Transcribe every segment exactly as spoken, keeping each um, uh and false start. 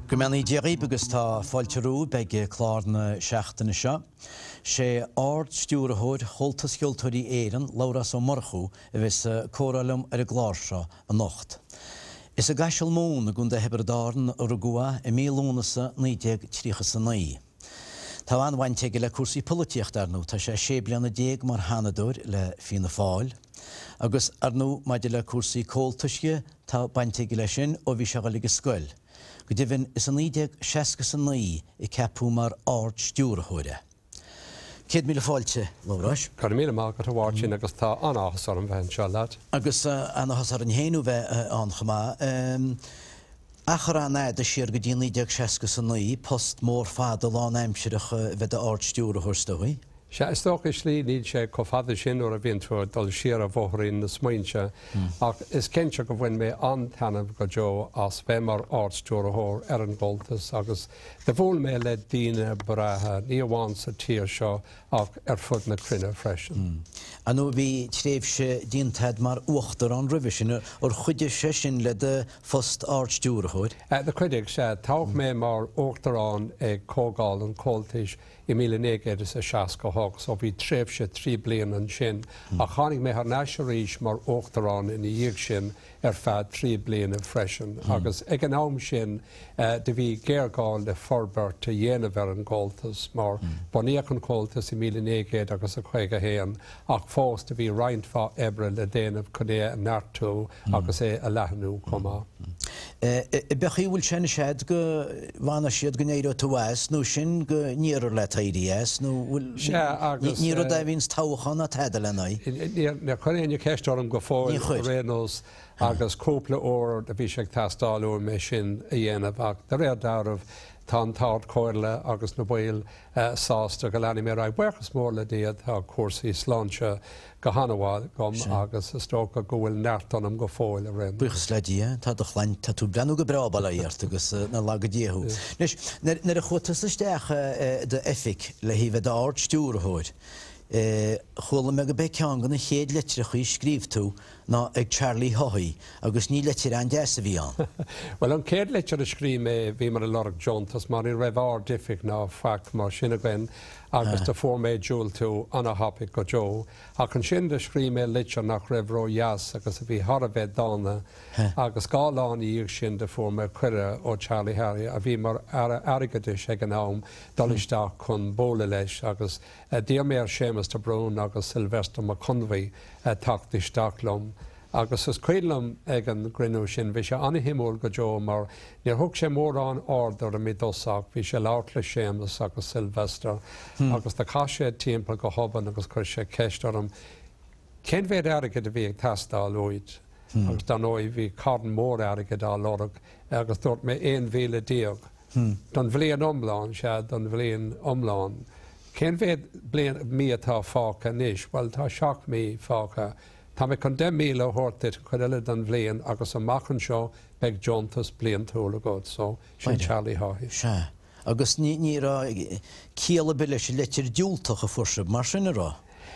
Go mbeannaí Dia dhaoibh agus tá fáilte romhaibh ag clár na seachtaine seo. Sé Ard-Stiúrthóir Chomhaltas Cheoltóirí Éireann, Labhrás Ó Murchú, a bheas ag comhrá liom ar an gclár seo anocht. Is i gCaiseal Mumhan i gContae Thiobraid Árann a rugadh é i mí Lúnasa naoi déag tríocha is a naoi. Tá an-bhaint aige le cúrsaí polaitíochta, ar ndóigh. Tá sé sé bliana déag mar Sheanadóir le Fianna Fáil. Agus, ar ndóigh, maidir le cúrsaí Comhaltais dhe, tá baint aige leis sin ó bhí sé a dhul ag an scoil. Go deimhin, is i naoi déag seasca is a naoi a ceapadh mar Ard-Stiúrthóir é. Céad míle fáilte, Labhráis. Go raibh míle maith agat, a Mháirtín, agus tá an-áthas orm bheith anseo leat. Agus an-áthas orainn féin thú bheith ann chomh maith. Achar an-fhada siar go dtí naoi déag seasca is a naoi, post mór fada lánaimsireach a bheith i d'Ard-Stiúrthóir, is dóigh. Sea, is dócha, i slí, níl sé chomh fada sin nuair a bhíonn tú ag dul siar ar bhóithrín na smaointe, ach is cinnte go bhain mé an-taitneamh go deo as bheith mar Ard-Stiúrthóir ar an gComhaltas agus do bhuail mé le daoine breátha, ní amháin sa tír seo ach ar fud na cruinne freisin. Ar ndóigh, bhí tréimhse déanta agat mar Uachtarán roimhe sin, ar chuidigh sé sin le do phost Ard-Stiúrthóir? Do chuidigh, sea. Toghadh mé mar Uachtarán ag Comhdháil an Chomhaltais i míle naoi gcéad is a seasca hocht, so bhí tréimhse trí bliana ansin, ach tháinig mé thar n-ais arís mar Uachtarán ina dhiaidh sin ar feadh trí bliana freisin. Agus ag an am sin do bhí géarghá le forbairt a dhéanamh ar an gComhaltas, mar bunaíodh an Comhaltas i míle naoi gcéad agus a caoga haon, ach fós do bhí roinnt mhaith oibre le déanamh chun é a neartú agus é a leathnú chomh maith. Ab é an chaoi a bhfuil sé anois a'd go bhfanfaidh siad go n-éireoidh tú as nó sin go n-iarrfar leat éirí as nó bhfuil Sea, agus ní rud é a bhíonns toghchán ná tada lena aghaidh. Níor chuir éinne ceist orm go fóill Níor chuir. ar aon nós agus cúpla uair a bhí sé ag teastáil uaim é sin a dhéanamh ach de réir dealraimh tá an tArd-Chomhairle agus na baill sásta go leanfaidh mé ar aghaidh. Buíochas mór le Dia tá cúrsaí sláinte go han-mhaith agam agus is dócha go bhfuil neart ionam go fóill ar aon nós. Buíochas le Dia, tá do shláinte, tá tú ag breathnú go breá bail ó Dhia ort agus nár laga Dia thú. Anois, nuair a chuaigh tusa isteach i d'oifig le haghaidh bheith i d'Ard-Stiúrthóir, chuala mé go b'é ceann de na chéad litreachaí a scríobh tú ná ag Charlie Haughey agus ní litir an-deas a bhí ann. Bhuel, an chéad litir a scríobh mé, bhíomar ag lorg deontas mar ní raibh Ard-Oifig ná faic mar sin againn agus do fuair mé diúltú ana-thapaidh go deo. Ach ansin do scríobh mé litir nach raibh ró-dheas agus a bhí thar a bheith dána agus dhá lá ina dhiaidh sin do fuair mé cuireadh ó Charlie Haughey, a bhí mar Aire Airgeadais ag an am, dul isteach chun bualadh leis agus d'iarr mé ar Séamus de Brún agus Sylvester Mac Conmhaí teacht isteach liom agus is cuimhin liom ag an gcruinniú sin, bhí sé an-shuimiúil go deo mar níor thug sé mórán aird orm i dtosach, bhí sé ag labhairt le Séamus agus Sylvester agus do chas sé timpeall go hobann agus chuir sé ceist orm cén mhéad airgid a bhí ag teastáil uait agus dar ndóigh bhí carn mór airgid á lorg agus dúirt mé aon mhíle déag. Don bhliain iomlán, sea, don bhliain iomlán. Cén mhéad bliain, mí atá fágtha anois? Bhuel, tá seacht mí fágtha. Tá mé chun deich míle a thabhairt duit, an chuid eile den bhliain, agus amach anseo beidh deontas bliantúil agat. So, sin Charlie Haughey. Sea. Agus ní, ní raibh ciall ar bith leis an litir diúltach a fuair sibh, mar sin, an raibh?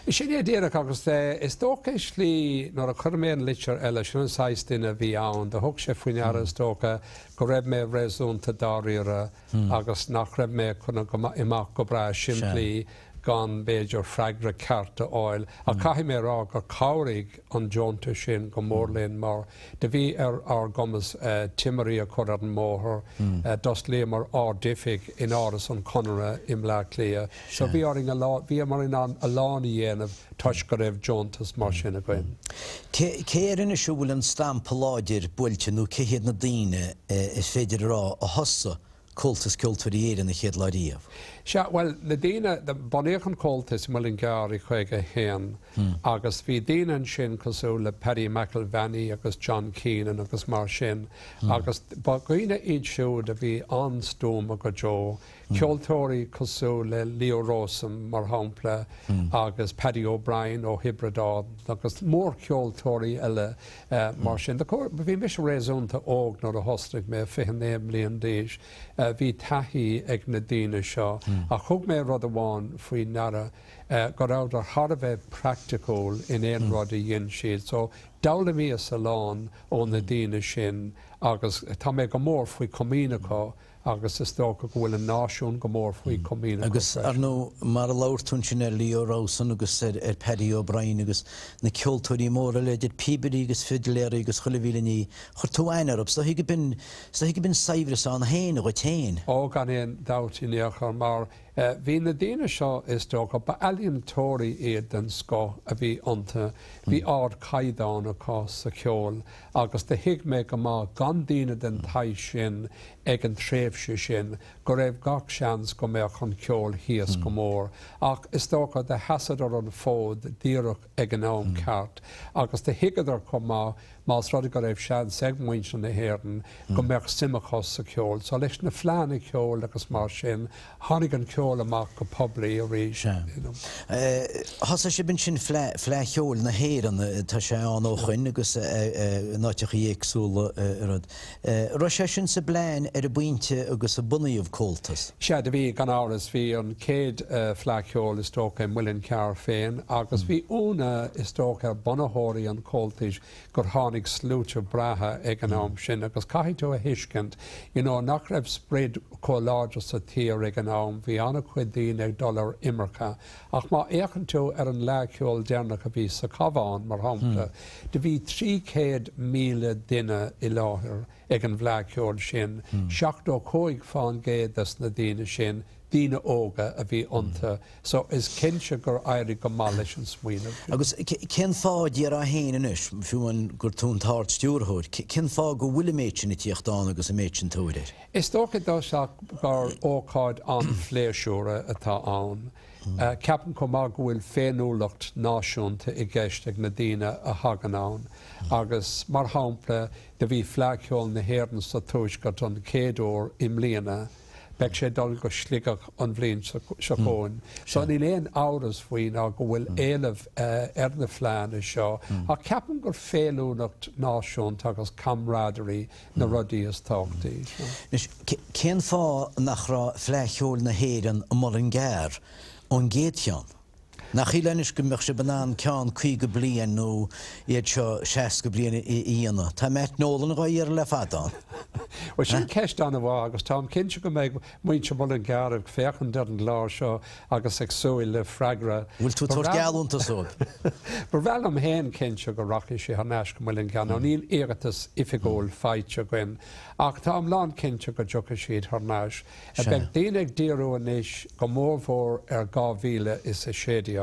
Sin é díreach, agus is dócha i slí, nuair a chuir mé an litir eile, sin an saghas duine a bhí ann, do thug sé faoi ndeara, is dócha, go raibh mé réasúnta dáiríre agus nach raibh mé chun imeacht go breá simplí gan, b'fhéidir, freagra ceart a fháil. Ach caithfidh mé a rá gur chabhraigh an deontas sin go mór linn mar do bhí ar ár gcumas timirí a chur ar an mbóthar, d'osclaíomar Ard-Oifig in Áras an Chonartha i mBleá Cliath. So bhí orainn a lán, bhíomar in ann a lán a dhéanamh toisc go raibh deontas mar sin againn. Cé cé air anois a bhfuil an stampa láidir buailte nó cé hiad na daoine is féidir a rá a thosaigh Comhaltas Ceoltóirí Éireann an chéad lá riamh? Sea, bhuel, na daoine, bunaíodh an Comhaltas i Muileann gCearr i caoga a haon agus bhí daoine ansin cosúil le Paddy McElvaney agus John Keenan agus mar sin agus ba dhaoine iad siúd a bhí an-stuama go deo, ceoltóirí cosúil le Leo Rowsome mar shampla agus Paddy O'Brien ó Thiobraid Árann agus mórcheoltóirí eile mar sin. Bhí mise réasúnta óg nuair a thosnaigh mé, fiche naoi mbliain d'aois. Bhí taithí ag na daoine seo ach thug mé rud amháin faoi ndeara, go rabhadar thar a bheith praiticiúil in aon rud a dhein siad. So d'fhoghlaimíos a lán ó na daoine sin agus tá mé go mór faoi chomaoin acu agus is dócha go bhfuil an náisiún go mór faoi chomaoin acu Agus, ar freisin. ndóigh, mar a labhair tú ansin ar Leo Rowsome agus ar ar Paddy O'Brien agus na ceoltóirí móra eile, idir píobairí agus fidléirí agus chuile mhíle ní, chuir tú aithne orthu, is dóichí go b'in, is dóichí go b'in saibhreas ann féin dhuit féin. Ó, gan aon dabht in aon chor, mar bhí na daoine seo, is dócha, ba ealaíontóirí iad den scoth a bhí iontu, bhí ardchaighdeán acu sa cheol agus do thuig mé go maith gan daoine den tsaghas sin ag an tréimhse sin go raibh gach seans go mbeadh an ceol thíos go mór. Ach is dócha do sheasadar an fód díreach ag an am ceart agus do thuigeadar chomh maith más rud é go raibh seans ag muintir na hÉireann go mbeadh suim acu sa cheol. So leis na fleánna ceoil agus mar sin, tháinig an ceol amach go poiblí arís. Sea. You know. Thosaigh sibh ansin Fleadh, Fleadh Cheoil na hÉireann, tá sé ann ó shoin agus in áiteachaí éagsúla rud. Raibh sé sin sa bplean ar an bpointe agus a bunaíodh Comhaltas? Sea, do bhí, gan amhras. Bhí an chéad Fleadh Cheoil is dócha i Muileann Cearr féin agus bhí ionadh is dócha ar bunaitheoirí an Chomhaltais gur tháinig sluaite breátha ag an am sin agus caithfidh tú a thuiscint you know nach raibh sprid chomh láidir sa tír ag an am, bhí an-chuid daoine ag dul ar imirce. Ach má fhéachann tú ar an Fhleadh Cheoil deireanach a bhí sa Chabhán, mar shampla, do bhí trí chéad míle duine i láthair ag an bhFleadh Cheoil sin, seachtó cúig fán gcéad des na daoine sin, daoine óga a bhí iontu. So is cinnte gur éirigh go maith leis an smaoineamh. Agus cén fáth, déarfá féin anois, fiú amháin gur tú an tArd-Stiúrthóir, cén fáth go bhfuil an méid sin ag tíocht ann agus an méid sin tóir air? Is dócha i dtosach gur ócáid an-phléisiúrtha atá ann. Ceapaim chomh maith go bhfuil féiniúlacht náisiúnta i gceist ag na daoine a thagann ann agus, mar shampla, do bhí Fleadh Cheoil na hÉireann sa Tuaisceart an chéad uair i mbliana, beidh sé ag dul go Sligeach an bhliain seo chugainn. So níl aon amhras faoi ná go bhfuil éileamh ar na fleánna seo ach ceapaim gur féiniúlacht náisiúnta agus camaraderie na rudaí is tábhachtaí. Anois, cén fáth nach raibh Fleadh Cheoil na hÉireann i Muileann gCearr ón gcéad cheann? Nach shílfeá anois go mbeadh sibh in ann ceann caoga bliain nó iad seo seasca bliain a dhéanamh? Tá Matt Nolan dhá iarraidh le fada ann. Bhuel, sin ceist an-mhaith agus táim cinnte go mbeidh muintir Mhuileann gCearr ag féachaint ar an gclár seo agus ag súil le freagra. Bhfuil tú ag tabhairt geallúntas dóibh? Ba bhreá liom féin cinnte go rachaidh sé thar n-ais go Muileann gCearr. Now níl iarratas oifigiúil faighte againn ach táim lánchinnte go dtiocfaidh siad thar n-ais. Beidh daoine ag díriú anois go mórmhór ar dhá mhíle is a sé déag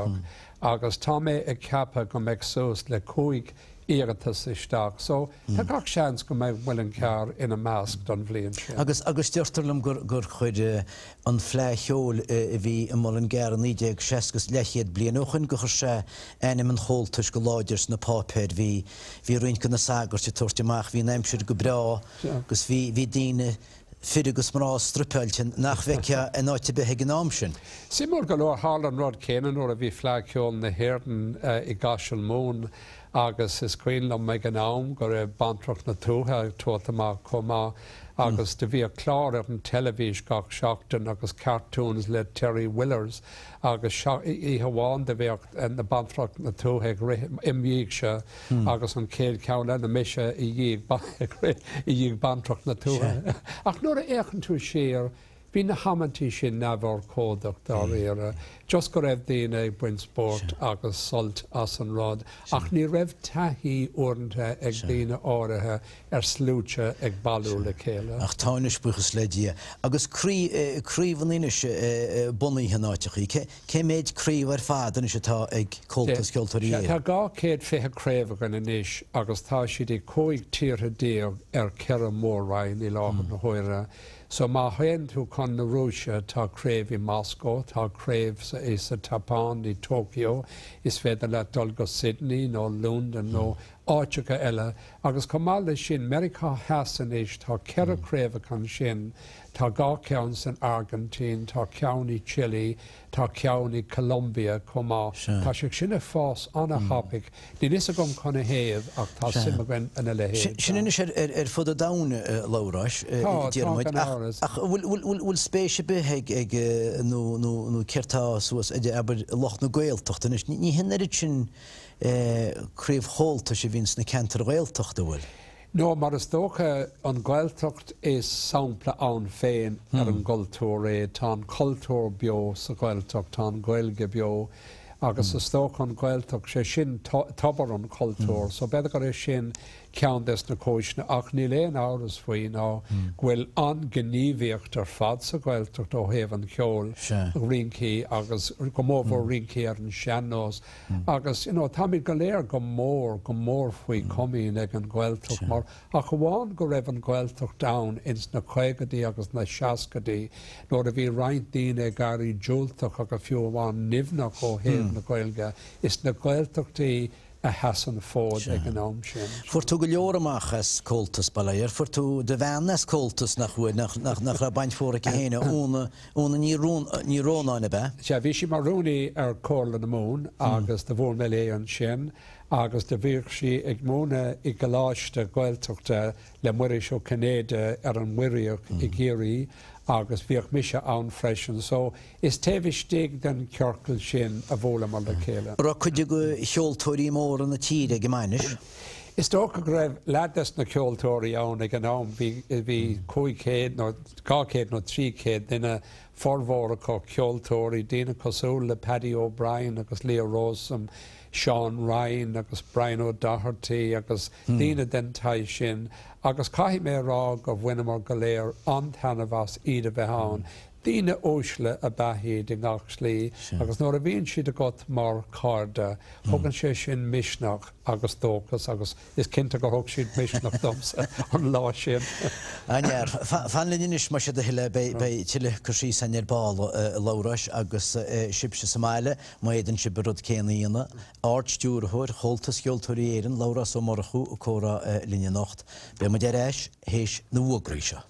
agus tá mé ag ceapadh go mbeidh suas le cúig iarratas isteach so tá gach seans go mbeidh Muileann gCearr ina measc don bhliain sin. Agus agus deirtear liom gur gur chuir an Fleadh Cheoil a bhí i Muileann gCearr i naoi déag seasca is leathchéad bliain ó shoin gur chuir sé ainm an Chomhaltais go láidir sna páipéir. Bhí bhí roinnt de na sagairt ag tabhairt amach, bhí an aimsir go breá agus bhí bhí daoine fir agus mná struipeáilte nach bhfeicfeá in áit ar bith ag an am sin. Suimiúil go leor, tharla an rud céanna nuair a bhí Fleadh Cheoil na hÉireann i gCaiseal Mumhan agus is cuimhin liom ag an am go raibh Bantracht na Tuaithe ag tabhairt amach chomh maith agus do bhíodh clár ar an teilifís gach seachtain agus cartoons le Terry Willers agus oíche amháin do bheadh na Bantracht na Tuaithe ag rith im dhiaidhse agus an chéad cheann eile mise i dhiaidh ag rith i dhiaidh Bantracht na Tuaithe. Ach nuair a fhéachann tú siar, bhí na hamantaí sin neamhurchóideach dáiríre, just go raibh daoine ag baint spóirt agus sult as an rud, ach ní raibh taithí uaireanta ag daoine áirithe ar sluaite ag bailiú le chéile. Ach tá anois, buíochas le Dia. Agus craobhanna anois bunaithe in áiteachaí. Cé mhéid craobh ar fad anois atá ag Comhaltas Ceoltóirí Tá Éireann? dhá chéad fiche craobh againn anois agus tá siad i cúig tíortha déag ar ceithre mór-roinn i láthair na huaire. So má théann tú chun na Rúise tá craobh i Moscow, tá craobh sa, i sa tSeapáin i Tokyo, is féidir leat dul go Sydney nó London nó áiteacha eile, agus chomh maith leis sin Meiriceá Theas anois tá ceithre craobhacha ansin, tá dhá cheann san Airgintín, tá ceann i Chile, tá ceann i Colombia chomh maith. Tá sé sin ag fás an-thapaidh. Níl a fhios agam canathaobh ach tá suim againn ina leithéid. Sin anois ar, ar, ar fud an domhain a Labhráis, Tá, deir tá muid. gan Ach, amhras. ach bhfuil, bhfuil, bhfuil, bhfuil spéis ar bith ag, ag nó, nó, nó céard tá suas ag abair lucht na Gaeltachta anois. Ní, ní hin oiread sin eh, craobh Chomhaltais a bhíonn sna ceantair Ghaeltachta bhfuil. No, mar is dócha an Ghaeltacht is sampla ann féin ar an gcultúr é, tá an cultúr beo sa Ghaeltacht, tá an Ghaeilge beo, agus is dócha an Ghaeltacht sé sin tobar an chultúir, so b'fhéidir gur é sin ceann des na cúiseanna ach níl aon amhras faoi ná go bhfuil an-ghníomhaíocht ar fad sa Ghaeltacht ó thaobh an cheoil rincí agus go mórmhór rincí ar an sean-nós. Agus you know, táimid go léir go mór go mór faoi chomaoin ag an Ghaeltacht mar ach amháin go raibh an Ghaeltacht ann ins na caogaidí agus na seascaidí nuair a bhí roinnt daoine ag éirí diúltach agus fiú amháin nimhneach ó thaobh na Gaeilge is na Gaeltachtaí a sheas an fód ag an am sin. Fuair tú go leor amach as Comhaltas Baile, fuair tú do bhean as Comhaltas nach bhfuil nach, nach, nach raibh baint mhór aici féin Úna Úna ní ní Rónáin ab ea. Sea bhí sí mar rúnaí ar Chomhairle na Mumhan agus do bhuail mé léi ansin agus do bhíodh sí ag múineadh i gcoláiste Gaeltachta le Muiris Ó Cinnéide ar an Muiríoch i gCiarraí agus bhíodh mise ann freisin, so is taobh istigh den ciorcal sin a bhuaileamar le chéile. Raibh cuid de cheoltóirí móra na tíre ag an mbainis. Is dócha go raibh leath des na ceoltóirí ann ag an am bhí bhí cúig chéad nó dhá chéad nó trí chéad duine formhór acu ceoltóirí daoine cosúil le Paddy O'Brien agus Leo Rowsome, Seán Ryan agus Brian O'Doherty agus daoine den tsaghas sin, agus caithfidh mé rá go bhaineamar go léir an-taitneamh as iad a bheith ann. Daoine uaisle ab ea iad i ngach slí, agus nuair a bhíonn siad agat mar chairde, thugann sé sin misneach agus dóchas agus is cinnte gur thug siad misneach domsa an lá sin. An-fhear, fan linn anois más é do thoil beidh tuilleadh cur síos againn ar ball a Labhráis agus sibhse sa mbaile, má fhéadann sibh an rud céanna a dhéanamh. Ard-Stiúrthóir Chomhaltas Cheoltóirí Éireann, Labhrás Ó Murchú ag comhrá linn anocht. Beidh muid ar ais théis na bhfógraí seo.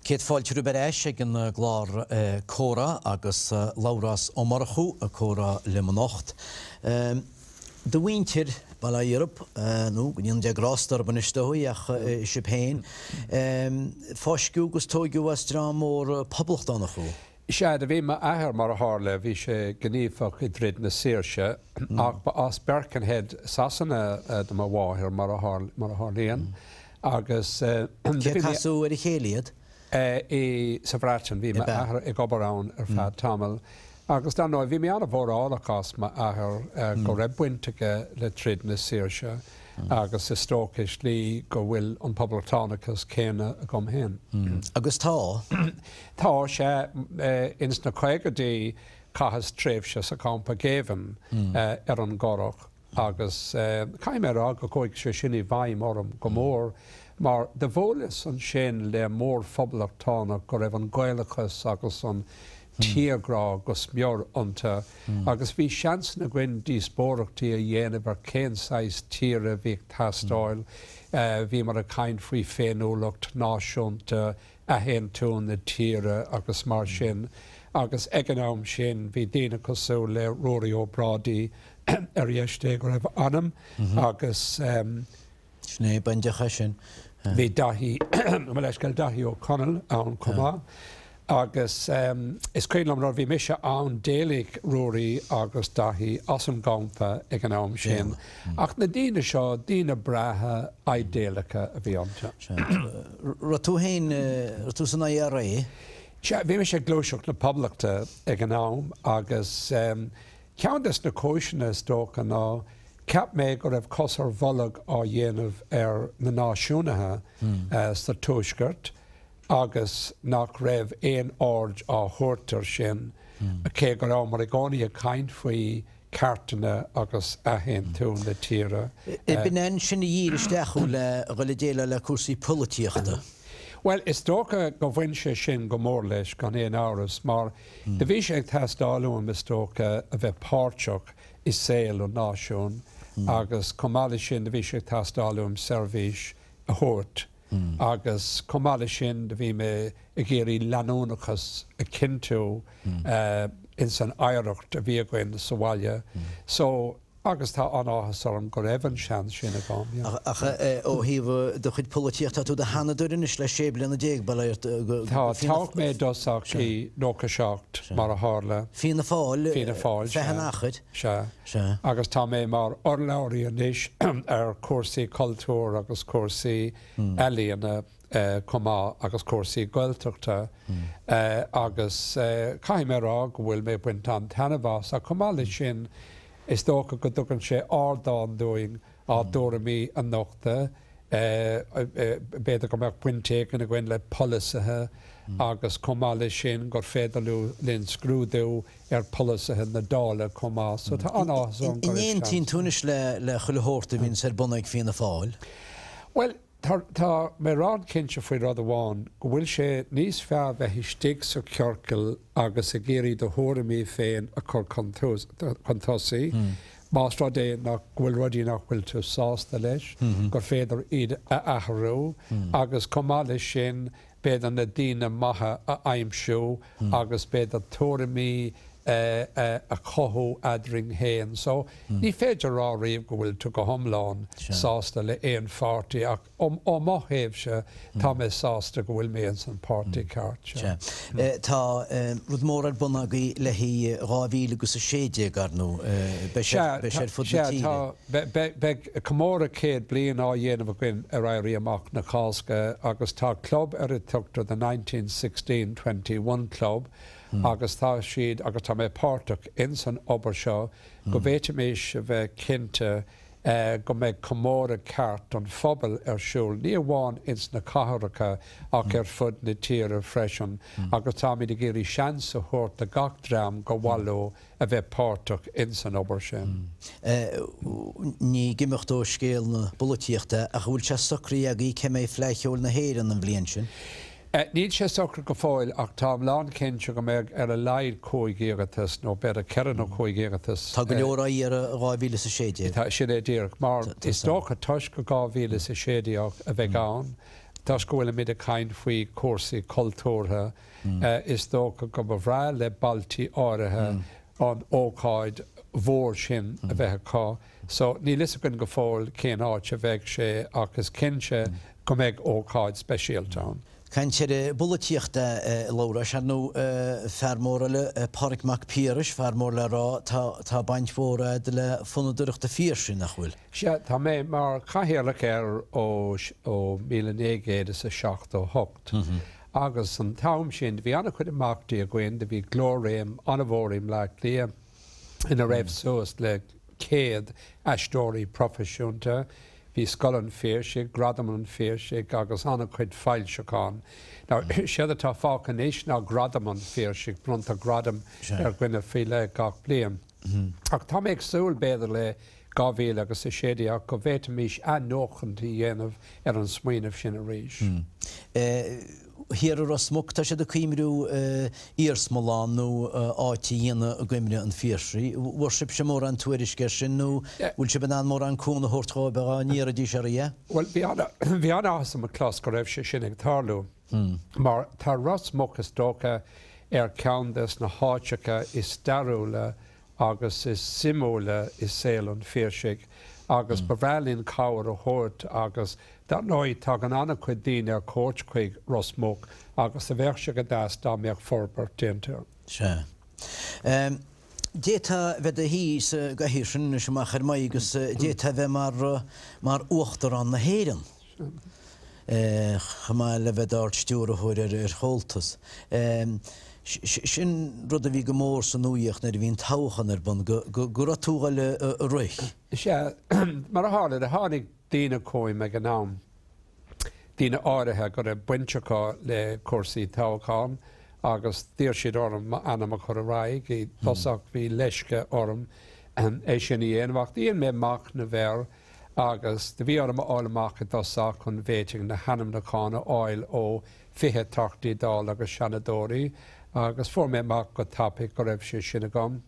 Céad fáilte romhaibh ar ais ag an gclár Comhrá agus Labhrás Ó Murchú ag comhrá liom anocht. Do mhuintir, bail ó Dhia oraibh, nó go ndéana Dia grásta oraibh anois is dóigh, ach sibh féin, fáisceadh agus tóigeadh as dream mór poblachtánach thú. Sea, do bhí m'athair, mar a tharla, bhí sé gníomhach i dtroid na saoirse, ach ba as Birkenhead, Sasana do mo mháthair, mar a tharlaíonn, agus. Cé a casadh ar a chéile iad? I, sa Bhreatain, bhí m'athair ag obair ann ar feadh tamaill. Agus dar ndóigh, bhí mé an-mhórálach as m'athair go raibh baint aige le troid na saoirse agus is dócha i slí go bhfuil an poblachtánachas céanna agam féin. Agus tá? Tá, sea. Ins na caogaidí chaitheas tréimhse sa champa géibhinn ar an gCurrach agus caithfidh mé a rá go chuaigh sé sin i bhfeidhm orm go mór mar do bhuaileas ansin le mórphoblachtánach go raibh an Gaelachas agus an tírghrá go smior iontu agus bhí seansanna againn díospóireachtaí a dhéanamh ar cén saghas tíre a bhí ag teastáil. Bhíomar ag caint faoi féiniúlacht náisiúnta, athaontú na tíre agus mar sin agus ag an am sin bhí daoine cosúil le Ruairí Ó Brádaigh, ar dheis Dé go raibh a anam, agus. Sin é, bainteach é sin. Bhí Daithí, mo leithscéal, Daithí Ó Conaill ann chomh maith agus is cuimhin liom nuair a bhí mise ann d'éalaigh Ruairí agus Daithí as an gcampa ag an am sin ach na daoine seo, daoine breátha idéalacha a bhí iontu. Raibh tú féin, raibh tú san IRA? Sea, bhí mise ag Gluaiseacht na Poblachta ag an am agus ceann des na cúiseanna is dócha ná Cheap mé go raibh cos ar bholg á dhéanamh ar na náisiúnaithe sa Tuaisceart agus nach raibh aon aird á thabhairt air sin, cé go rabhamar i gcónaí ag caint faoi cheartanna agus athaontú na tíre. B'in é ansin a dhírigh isteach thú le dhul ag déileáil le cúrsaí polaitíochta? Bhuel, is dócha go bhain sé sin go mór leis, gan aon amhras, mar do bhí sé ag teastáil uaim, is dócha, a bheith páirteach i saol an náisiúin agus chomh maith leis sin do bhí sé ag teastáil uaim seirbhís a thabhairt agus chomh maith leis sin do bhí mé ag iarraidh leanúnachas a chinntiú ins an oidhreacht a bhí againn sa bhaile. So, agus tá an-áthas orm go raibh an seans sin agam, yeah. Ach ó thaobh do chuid polaitíochta, tá tú i do sheanadóir anois le sé bliana déag, bail ort, go Tá, toghadh mé i dtosach i nócha seacht, mar a tharla. Fianna Fáil, Fianna Fáil, feadh sea. an achair. Sea. Sea. Agus tá mé mar urlabhraí anois ar chúrsaí cultúir agus cúrsaí ealaíona chomh maith agus cúrsaí Gaeltachta agus caithfidh mé a rá go bhfuil mé ag baint an-taitneamh as ach chomh maith leis sin Is dócha go dtugann sé ardán dúinn ár dtuairimí a nochtadh, b'fhéidir go mbeadh baint éigin againn le polasaithe agus chomh maith leis sin gur féidir linn scrúdú ar pholasaithe na Dála chomh maith. So tá an-áthas orm go An raibh aontaíonn seans. tú anois le chuile shórt a bhíonns ar bun ag Fianna Fáil? Bhuel, Tá, tá mé lánchinnte faoi rud amháin, go bhfuil sé níos fearr bheith istigh sa chiorcal agus ag iarraidh do thuairimí féin a chur chun tosaigh, más rud é nach, go bhfuil rudaí nach bhfuil tú sásta leis, gur féidir iad a athrú agus chomh maith leis sin, b'fhéidir na daoine maithe a aimsiú agus b'fhéidir tuairimí a chothú eadrainn féin. So, ní féidir a rá riamh go bhfuil tú go hiomlán sásta le aon pháirtí ach ó mo thaobhse tá mé sásta go bhfuil mé ins an páirtí ceart. Sea. Tá rud mór ar bun agaibh le haghaidh dhá mhíle agus a sé déag, ar ndóigh. Beidh sé ar fud na Sea, tíre. tá. Beidh comóradh céad bliain á dhéanamh againn ar Éirí Amach na Cásca agus tá club ar a dtugtar The nineteen sixteen twenty one Club agus tá siad, agus tá mé páirteach ins an obair seo, go bhféadfaimis a bheith cinnte go mbeidh comóradh ceart don phobal ar siúl, ní amháin ins na cathracha ach ar fud na tíre freisin agus táimid ag iarraidh seans a thabhairt do gach dream gur mhaith leo a bheith páirteach ins an obair sin. Ní ag imeacht ó scéal na polaitíochta ach an bhfuil sé socraithe agaibh cé mbeidh Fleadh Cheoil na hÉireann an bhliain sin? Níl sé socraithe go fóill ach táim lánchinnte go mbeidh ar a laghad cúig iarratas nó b'fhéidir ceithre nó cúig iarratas. Tá go leor á iarraidh dhá mhíle is a sé déag. Tá, sin é díreach. Mar is dócha toisc go dhá mhíle is a sé déag a bheidh ann, toisc go bhfuilimid ag caint faoi chúrsaí cultúrtha, is dócha go mba bhreá le bailtí áirithe an ócáid mhór sin a bheith acu. So níl fhios againn go fóill cén áit a bheidh sé ach is cinnte go mbeidh ócáid speisialta ann. Caint ar an bpolaitíocht a Labhráis, ar ndóigh fear mór eile, Pádraig Mac Piarais, fear mór le rá, tá tá baint mhór a'd le Fondúireacht an Phiarsaigh, nach bhfuil? Sea, tá mé mar chathaoirleach air ó ó míle naoi gcéad is a seachtó hocht. Agus an t-am sin, do bhí an-chuid imeachtaí againn, do bhí Glór-Réim an-mhór i mBleá Cliath ina raibh suas le céad aisteoirí proifisiúnta, bhí Scoil an Phiarsaigh, Gradam an Phiarsaigh agus an-chuid foilseachán. Now, séard atá fágtha anois ná Gradam an Phiarsaigh, bronntar gradam ar dhuine faoi leith gach bliain. Ach tá mé ag súil, b'fhéidir le dhá mhíle agus a sé déag go bhféadfaimis athnuachaint a dhéanamh ar an smaoineamh sin arís. Thiar i Ros Muc, tá siad ag cuimriú iarsmalann nó áit a dhéanamh i gcuimhne an Phiarsaigh. Bhfuair sibhse mórán tuairisc air sin nó bhfuil sibh in ann mórán cúnamh a thabhairt dhóibh dhá n-iarrfaidís oraibh é? Bhuel, bhí an-áthas orm a chlos go raibh sé sin ag tarlú mar tá Ros Muc is dócha ar cheann des na háiteacha is stairiúla agus is suimiúla i saol an Phiarsaigh agus ba bhreá linn cabhair a thabhairt agus dar ndóigh tagann an-chuid daoine ar cuairt chuig Ros Muc agus do bheadh sé go deas dá mbeadh forbairt déanta air. Sea. D'fhéadfá a bheith i do shuí sa gcathaoir sin anois amach ar m'aghaidh agus d'fhéadfá a bheith mar, mar Uachtarán na hÉireann. Chomh maith le bheith d'Ard-Stiúrthóir ar Chomhaltas. Sin rud a bhí go mór sa nuaíocht nuair a bhí an toghchán ar bun, go raibh tú ag dul a rith. Sea, mar a tharla, do tháinig daoine chugam ag an am, daoine áirithe go raibh baint acu le cúrsaí toghcháin agus d'iarr siad orm m'ainm a chur ar aghaidh. I dtosach bhí leisce orm é sin a dhéanamh ach dhein mé machnamh air agus do bhí orm a fháil amach i dtosach an bhféadfainn na hainmniúcháin a fháil ó fiche Teachtaí Dála agus Seanadóirí agus fuair mé amach go tapaidh go raibh sé sin agam.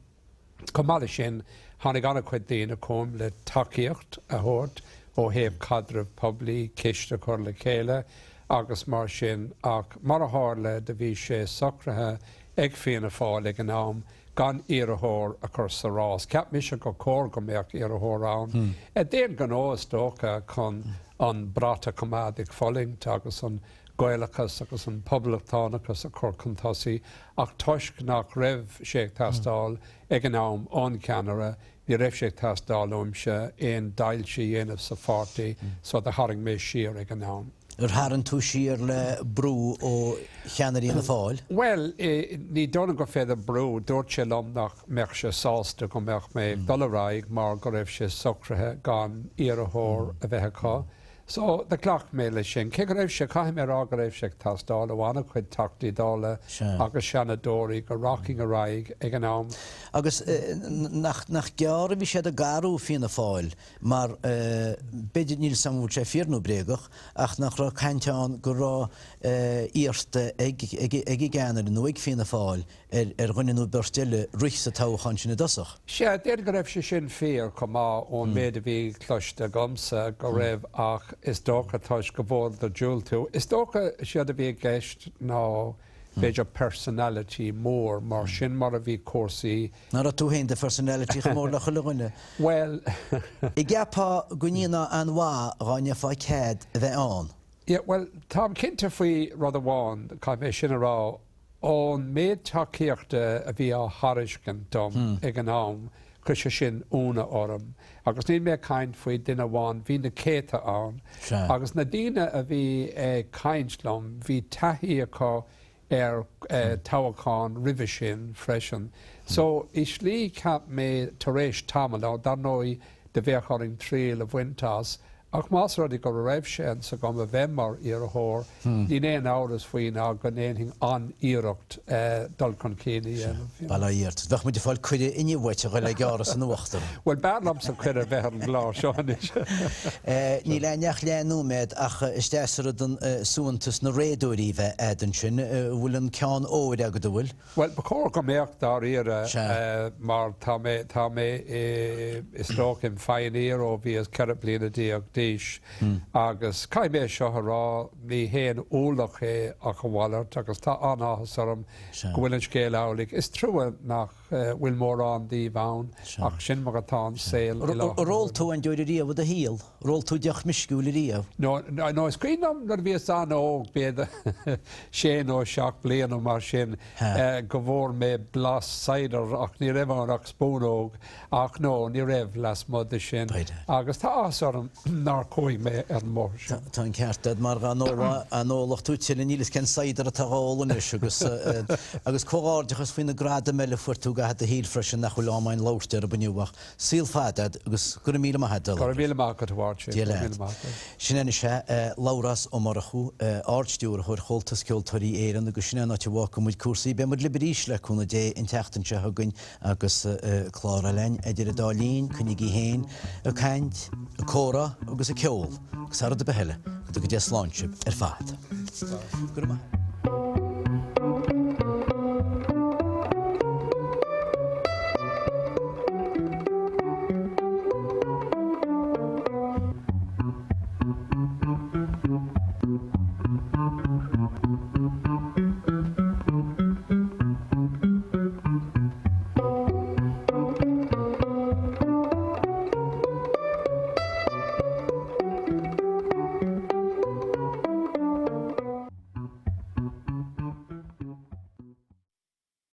Chomh maith leis sin, tháinig an-chuid daoine chugam le tacaíocht a thabhairt ó thaobh caidreamh poiblí, ciste a chur le chéile agus mar sin ach mar a tharla do bhí sé socraithe ag Fianna Fáil ag an am gan iarrthóir a chur sa rás. Cheap mise gur chóir go mbeadh iarrthóir ann. D'aon ghnó is dócha chun an brat a choimeád ag fulaingt agus an Gaelachas agus an poblachtánachas a chur chun tosaigh ach toisc nach raibh sé ag teastáil ag an am ón cheannaire, ní raibh sé ag teastáil uaimse aon deighilt a dhéanamh sa pháirtí so do tharraing mé siar ag an am. Ar tharraing tú siar le brú ó cheannairí Fhianna Fáil? Bhuel, ní dóigh liom gur féidir brú, dúirt sé liom nach mbeadh sé sásta go mbeadh mé ag dul ar aghaidh mar go raibh sé socraithe gan iarrthóir a bheith acu. So, do ghlac mé leis sin. Cé go raibh sé, caithfidh mé a rá go raibh sé ag teastáil ó an-chuid Teachtaí Dála agus Seanadóirí go rachainn ar aghaidh ag an am. Agus nach, nach gearr a bhí siad ag athrú Fianna Fáil mar b'fhéidir, níl 'fhios a'm an bhfuil sé fíor nó bréagach, ach nach raibh caint ann go raibh iarrta ag, ag, ag an gceannaire nó ag Fianna Fáil ar, ar dhuine nó beirt eile rith sa toghchán sin i dtosach. Sea, d'fhéadfadh go raibh sé sin fíor chomh maith ón méid a bhí cloiste agamsa go raibh ach is dócha toisc go bhfuaireadar diúltú. Is dócha séard a bhí i gceist ná b'fhéidir personality mór mar sin mar a bhí cúrsaí. Nach raibh tú féin do phersonality chomh mór le chuile dhuine? Bhuel. An gceapfá go ndéanfá an-mhaith dhá ndearfá cead a bheith ann? Yeah, bhuel, táim cinnte faoi rud amháin, caithfidh mé sin a rá, ón méid tacaíochta a bhí á thairiscint dom ag an am, chuir sé sin ionadh orm. Agus níl mé ag caint faoi duine amháin, bhí na céadta ann. Agus na daoine a bhí ag caint liom, bhí taithí acu ar toghcháin roimhe sin freisin. So, i slí, cheap mé tar éis tamaill, dar ndóigh, do bheadh orainn triail a bhaint as, Ach más rud é go raibh seans agam a bheith mar iarrthóir, níl aon amhras faoi ná go ndéanfainn an-iarracht dul chun cinn a dhéanamh. Bail ó Dhia ort. Bheadh muid ag fáil cuireadh inniu uait a dhul ag gearradh san uachtar. Bhuel, b'fhearr liomsa cuireadh a bheith ar an gclár seo anois. Níl againn ach leath nóiméad ach is deas an rud an suaitheantas na réadóirí bheith a'd ansin. An bhfuil an ceann óir agat, an bhfuil? Bhuel, ba chóir go mbeadh dáiríre mar tá mé, tá mé is dócha im phioneer ó bhíos ceithre bliana déag d'aois agus caithfidh mé seo a rá, ní haon ualach é ach a mhalairt agus tá an-áthas orm go bhfuil an scéal amhlaidh. Is trua nach bhfuil mórán díobh ann ach sin mar atá an saol i láthair. Ar ól tú aon deoir ariamh i do shaol? Ar ól tú deoch meisciúil ariamh? No, no, is cuimhin liom nuair a bhíos an-óg, b'fhéidir sé nó seacht bliana nó mar sin, go bhfuair mé blas cider ach ní raibh ann ach spúnóg ach no, ní raibh lasmuigh de sin. Agus tá áthas orm nár chuaigh mé ar an mbóthar sin. Tá an ceart agat mar dá n-ólfadh tú tuilleadh níl fhios cén cider atá á ól anois agus agus comhghairdeachas faoi na gradaim eile a fuair tú i gcaitheamh do shaoil freisin nach bhfuil am againn labhairt orthu inniu ach saol fada agat agus go raibh míle maith agat a Go raibh míle maith agat a Mháirtín. Dia leat. Sin é anois é, Labhrás Ó Murchú, Ard-Stiúrthóir Chomhaltas Ceoltóirí Éireann agus sin é an áit a bhfágfaidh muid cúrsaí. Beidh muid libh arís le cúnamh Dé an tseachtain seo chugainn agus clár eile againn. Idir an dá linn, coinnígí féin ag caint, ag comhrá agus ag ceol agus thar rud ar bith eile, go dtuga Dia slán sibh ar fad. Go raibh maith agat.